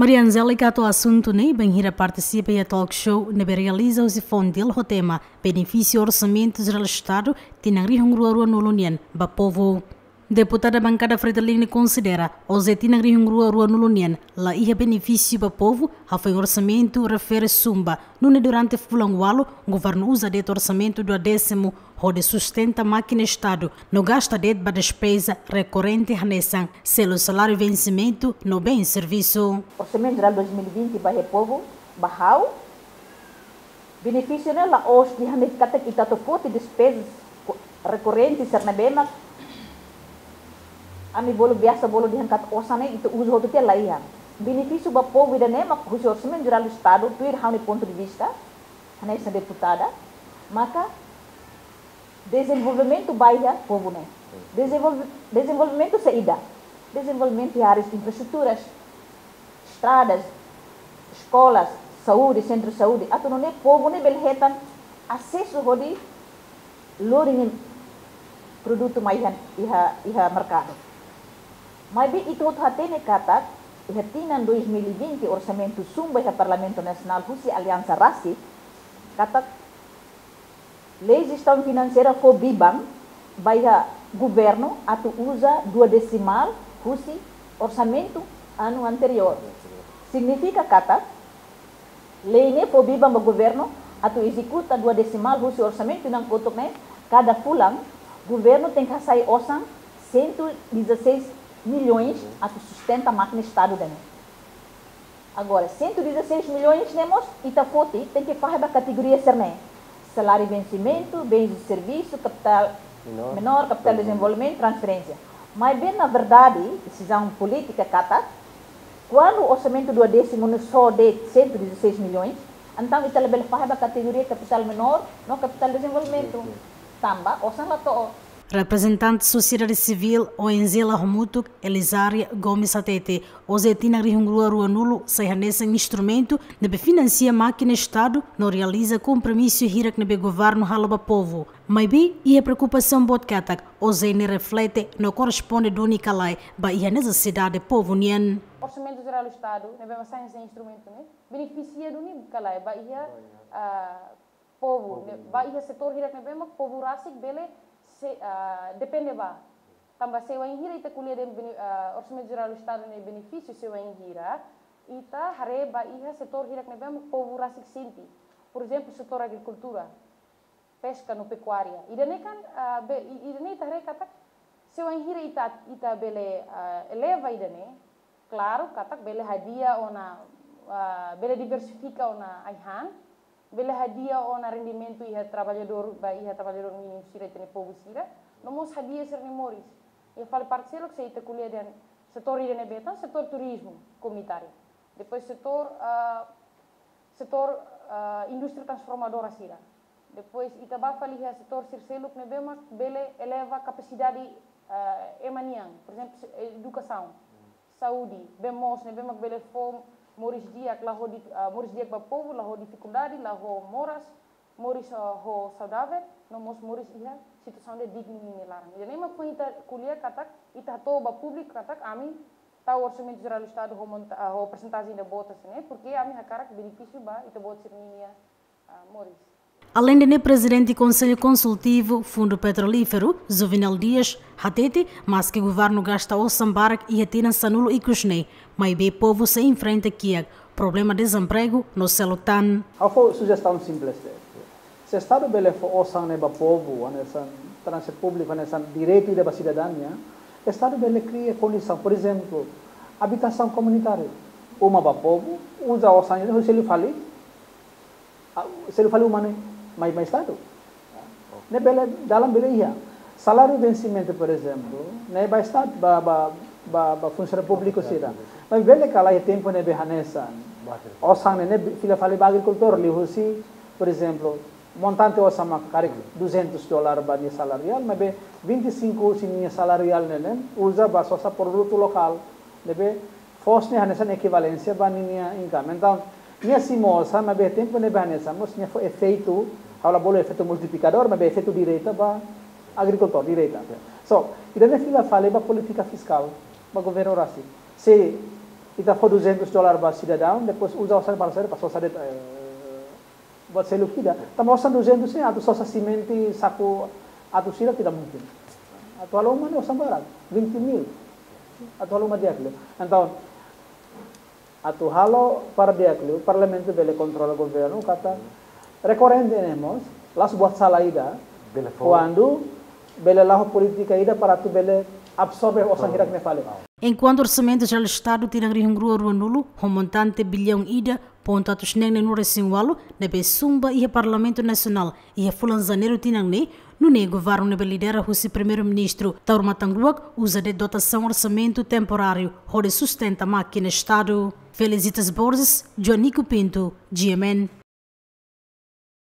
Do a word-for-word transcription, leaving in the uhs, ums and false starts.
Maria Angélica hato'o asuntu ne'e bainhira partisipa iha talk show ne'ebé realiza husi Fontil ho tema Benefísiu Orsamentu Jerál Estadu tinan rihun rua ruanulu nian ba povu. Deputada Bankada Fretilin ne'e konsidera, ohin tinan rihun rua ruanulu nian la iha benefísiu ba povu, hafoin orsamentu refere sumba, nune'e durante fulan ualu, governu uza de'it orsamentu duodésimu hodi sustenta mákina Estadu, no gasta de'it ba despeza rekorrente hanesan selu saláriu vensimentu no bens servisu. Orsamentu Jerál dois mil e vinte ba iha povu, ba ha'u, benefísiu ne'e la'ós dehan de'it katak ita atu foti despeza ko-, rekorrente sira ne'ebé mak ami bolu biasa bolu dehan katak osan ne'e ita uza hotu tiha, la iha. Benefísiu ba povu ida-ne'e mak husi Orsamentu Jerál Estadu, tuir ha'u-nia pontu de vista, hanesan deputada, maka dezenvolvimentu ba iha povu ne'e. Dezenvolve-, dezenvolvimentu saida? Dezenvolvimentu iha áreas infraestruturas, estradas, eskolas, saúde, sentru saúde, atu nune'e povu ne'e bele hetan asesu hodi lori nia produtu mai iha, iha, iha merkadu. Maibé ita hotu hatene katak, iha tinan dois mil e vinte orsamentu sumba iha Parlamentu Nasionál husi aliansa rasik, katak Lei Jestaun Finanseira fó biban ba iha governu atu uza duodesimál husi orsamentu anu anteriór. Signifika katak, lei ne'e fó biban ba governu atu ezekuta duodesimál husi orsamentu tinan kotuk ne'e, kada fulan, governu tenke hasai osan cento e dezasseis milhões atu sustenta mákina Estadu ida-ne'e. Agora, cento e dezasseis milhões ne'e mós ita foti, tenke fahe ba kategoria sira-ne'e. Saláriu vensimentu, bens de servisu, kapitál menór, kapitál dezenvolvimentu, transferénsia. Maibé, na verdade, desizaun polítika katak, kuandu orsamentu duodésimu ne'e só de'it cento e dezasseis milhões, entaun ita labele fahe ba kategoria kapitál menór no kapitál dezenvolvimentu. Tanba osan la to'o. Reprezentante sosiedade sivíl, O N G la hamutuk, Elizaria Gomes hatete, ohin tinan rihun rua ruanulu sai hanesan instrumentu ne'ebé finansia mákina Estadu no realiza kompromisu hirak ne'ebé governu halo ba povu. Maibé, iha preokupasaun boot katak, osan ne'e reflete no korresponde duni ka lae ba iha nesesidade povu nian. Orsamentu Jerál Estadu ne'ebé mak sai hanesan instrumentu ne'e benefisia duni ka lae ba iha, ah, povu, ne'e, ba iha setór hirak ne'ebé mak povu rasik bele se, ah, depende ba. Tanba se wainhira ita ko'alia dehan bene-, ah, Orsamentu Jerál Estadu ne'e benefísiu, se wainhira ita haree ba iha setór hirak ne'ebé mak povu rasik sente. Por ezemplu, setór agrikultura, peska no pekuária. Ida-ne'e kan, ah, be-, i-, ida-ne'e ita haree katak, se wainhira ita, ita bele, ah, eleva ida-ne'e, klaru, katak bele hadi'a ona, ah, bele diversifika ona ai-han, bele hadi'a ona rendimentu iha traballadór, ba iha traballadór mínimu sira, ita-nia povu sira, no mós hadi'a sira-nia moris. Iha fali parte seluk, se ita ko'alia dehan setór ida ne'ebé tan, setór turizmu komunitáriu. Depois setór, ah, setór, ah, indústria transformadora sira. Depois ita bá fali iha setór sira seluk ne'ebé mak bele eleva kapasidade, ah, ema nian, por ezemplu, se-, edukasaun, saúde, bee moos ne'ebé mak bele fó moris di'ak, la ho di-, ah, moris di'ak ba povu, la ho difikuldade, la ho moras, moris, ah, ho saudavel, no mós moris iha situasaun ida dignu ninia laran. Ida-ne'e mak foin ita ko'alia katak, ita hato'o ba públiku katak, ami tau Orsamentu Jerál Estadu ho monta-, ah, ho persentajen ida boot hanesan ne'e, porke ami hakarak benefísiu ba ita-boot sira-ninia, ah, moris. Aleinde ne'e, Prezidente Konsellu Konsultivu Fundu Petrolíferu, Juvenal Dias, hatete, maske governu gasta osan barak iha tinan sanulu ikus ne'e, maibé povu sei enfrenta kiak problema dezempregu no seluk tan. Ha'u fó sujestaun simples de'it. Se Estadu bele fó osan ne'e ba povu, hanesan transporte públiku, hanesan direitu ida ba sidadaun nian, Estadu bele kria kondisaun, por ezemplu, abitasaun komunitáriu. Uma ba povu, uza osan ne'e, selu fali, ah, selu fali uma ne'e, mai, mai Estadu. Ne'e bele, dalan bele iha. Saláriu vensimentu, por ezemplu, ne'e ba Estadu, ba, ba, ba, ba funsionáriu públiku sira. Mas bele ka lae iha tempu ne'ebé hanesan osan ne'e, ne'e fila fali ba agrikultór, liuhusi, por ezemplu, montante osan mak karik duzentus dólar ba nia saláriu reál, maibé vinte e cinco husi nia saláriu reál ne'e, ne'e uza ba sosa produtu lokál, ne'ebé foos ne'e hanesan ekivalénsia ba ninia income. Entaun, nia simu osan, maibé tempu ne'ebé hanesan, mós nia fó efeitu, ha'u la bolu efeitu multiplikadór, maibé efeitu direta ba agrikultór, direta. So, ida-ne'e fila fali ba polítika fiskál, ba governu rasik. Se Ita fó duzentus dolar ba sidadaun, depois uza osan para saida, para sosa de'it, eh, buat seluk ida. Tanba osan duzentus ne'e atu sosa simente saku atus ida tidak mungkin. Atu halo uma ne'e osan barak, vinte mil. Atu halo uma di'ak liu. Entaun, atu halo para di'ak liu, parlamentu bele kontrola governu, katak rekorrente ne'e mós, la'ós buat sala ida, bele fó, kuandu bele la'o polítika ida para atu bele absorve osan hirak ne'e fali. Enkuantu Orsamentu Jerál Estadu tinan rihun rua ruanulu, ho montante biliaun ida pontu atus neen neenulu resin ualu, ne'ebé sun ba iha Parlamentu Nasionál iha fulan Janeiru tinan ne'e, nune'e governu ne'ebé lidera husi Primeiru-Ministru Taur Matan Ruak uza de'it dotasaun orsamentu temporáriu hodi sustenta mákina Estadu. Felicitas Borges, Joanico Pinto, G M N.